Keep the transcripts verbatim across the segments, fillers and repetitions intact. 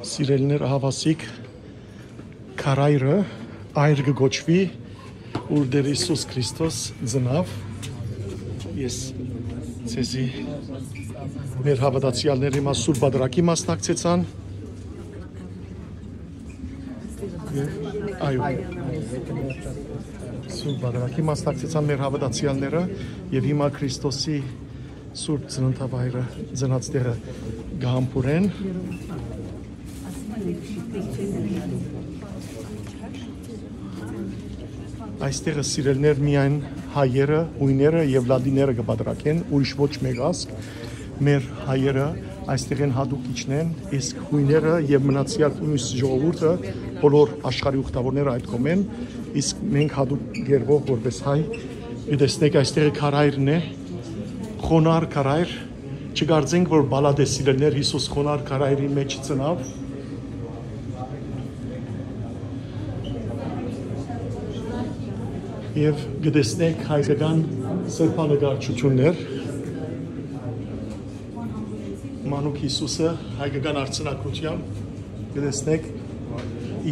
Սիրելիներ, ահա ասիկ քարայրը, այր կը կոչուի, ուր Տեր Յիսուս Քրիստոս ծնաւ։ Ես ձեզի, մեր հաւատացեալները, հիմա Սուրբ Պատրակի մասնակցեցան։ Այո, Սուրբ Պատրակի մասնակցեցան մեր հաւատացեալները, եւ հիմա Քրիստոսի Սուրբ Ծննդավայրը ծնած տեղը կը համբուրեն։ Այստեղը, սիրելիներ, միայն հայերը, յոյները եւ լատիները կը պատրակեն, ուրիշ ոչ մէկ ազգ։ Մեր հայերը այստեղ են, յատուկ իջնեն, իսկ յոյները եւ մնացեալ միւս ժողովուրդը, բոլոր աշխարհի ուխտաւորները այդ կողմեն, իսկ մենք յատուկ գերբով, որպես հայ, կը տեսնենք, այստեղը քարայրն է, խոնար քարայր, չկարծենք, որ պալատ է, սիրելիներ, Յիսուս խոնար քարայրի մէջ ծնաւ։ Եւ կը տեսնենք հայկական սրբանկարչութիւններ, մանուկ Յիսուսը հայկական արձանագրութեամբ, կը տեսնենք,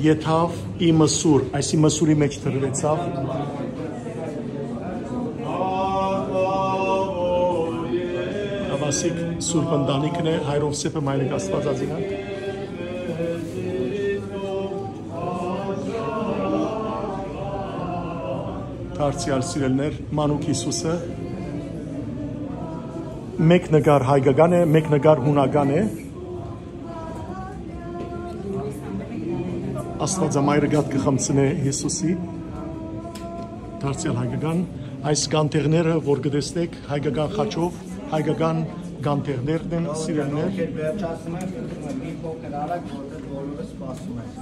եթաւ ի մսուր, այսի մսուրի մէջ դրուեցաւ։ Ահա ասիկ Սուրբ Ընտանիքն է, հայրով սեպը, մայրիկ Աստվածածինը։ Դարձեալ, սիրելիներ, մանուկ Յիսուսը մէկ նկար հայկական է, մէկ նկար յունական է։ Աստուածամայրը կաթ կը խմցնէ Յիսուսի, դարձեալ հայկական։ Այս կանթեղները, որ կը տեսնէք, հայկական խաչով, հայկական կանթեղներն են, սիրելիներ։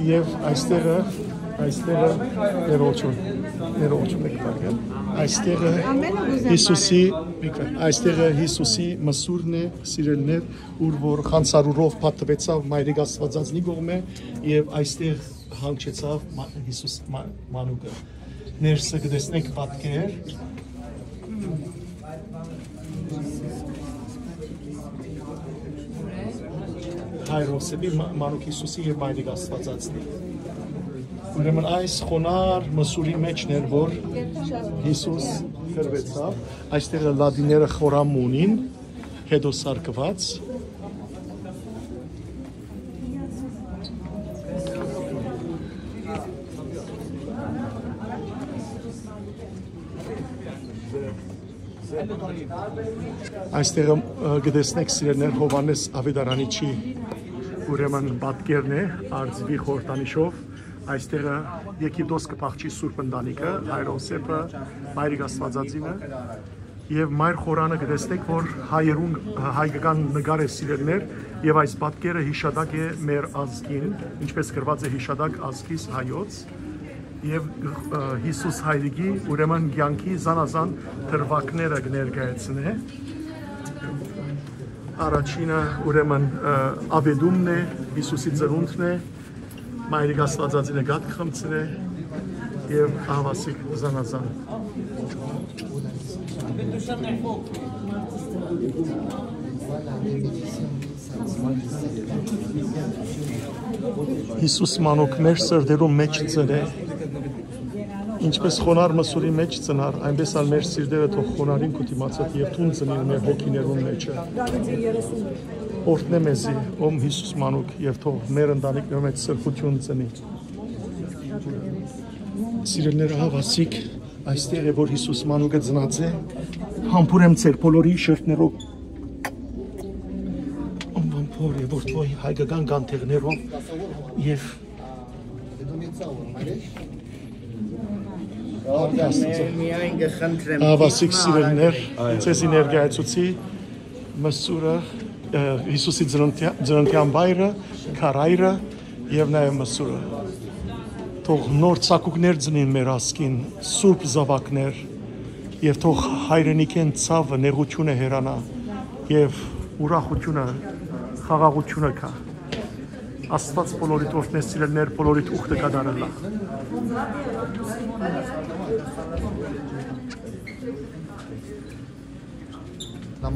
Եւ այստեղը, այստեղը ներողություն, ներողություն եք պարգել։ Այստեղը Յիսուսի, այստեղը Յիսուսի մսուրն է, սիրելիներ, ուր որ խանցարուրով փաթթուեցաւ մայրիկ Աստվածածնի կողմէ եւ այստեղ հանգչեցաւ մա-, Յիսուս մա-, մանուկը։ Ներսը կը տեսնենք պատկեր հայրով սեպի, մա-, մանուկ Յիսուսի եւ մայրիկ Աստվածածնի։ Ուրեմն այս խոնար մսուրի մէջն էր, որ Յիսուս կռուեցաւ, այստեղ լատիները խորան մունին, հետո սարկուած։ Այստեղ, ը, կը տեսնեք, սիրելիներ, Յովհաննէս Աւետարանիչի, ուրեմն, պատկերն է, արծուի խորհրդանիշով։ Այստեղ Եգիպտոս կը փախչի Սուրբ Ընտանիքը, հայրով սեպը, մայրիկ Աստվածածինը, եւ մայր խորանը կը տեսնեք, որ հայերուն, հայկական նկար է, սիրելիներ, եւ այս պատկերը յիշատակ է մեր ազգին, ինչպես գրված է յիշատակ ազգիս հայոց, եւ, ը, Յիսուս հայրիկի, ուրեմն, կեանքի զանազան դրուագները կը ներկայացնէ։ Առաջինը, ուրեմն, ը, աւետումն է, Յիսուսի ծնունդն է, մայրիկ Աստվածածինը կաթ կը խմցնէ եւ ահա ասիկ զանազան։ Յիսուս մանուկ մեր սրտերուն մէջ ծնէ, ինչպես խոնար մսուրի մէջ ծնար, այնպես ալ մեր սիրտերը թող խոնարին քու դիմացդ եւ դուն ծնին մեր հոգիներուն մէջը։ Օրհնէ մեզի, ո՛մ Յիսուս մանուկ, եւ թող մեր ընտանիքներու մէջ սրբութիւն ծնի։ Սիրելիներ, ահա ասիկ, այստեղ է, որ Յիսուս մանուկը ծնած է, համբուրեմ ձեր բոլորի շրթներով, անվան Հօր եւ Որդի հայկական կանթեղներով եւ Միայն կը խնդրեմ, ահա ասիկ, սիրելիներ, ձեզի ներկայացուցի մսուրը, ը, Յիսուսի ծննդյա-, ծննդեան վայրը, քարայրը եւ նաեւ մսուրը։ Թող նոր ցակուկներ ծնին մեր ազգին, սուրբ զաւակներ, եւ թող հայրենիքէն ցաւը, նեղութիւնը հեռանայ եւ ուրախութիւնը, խաղաղութիւնը գայ։ Աստուած բոլորիդ օրհնէ, սիրելիներ, բոլորիդ ուխտը կատարելլայ։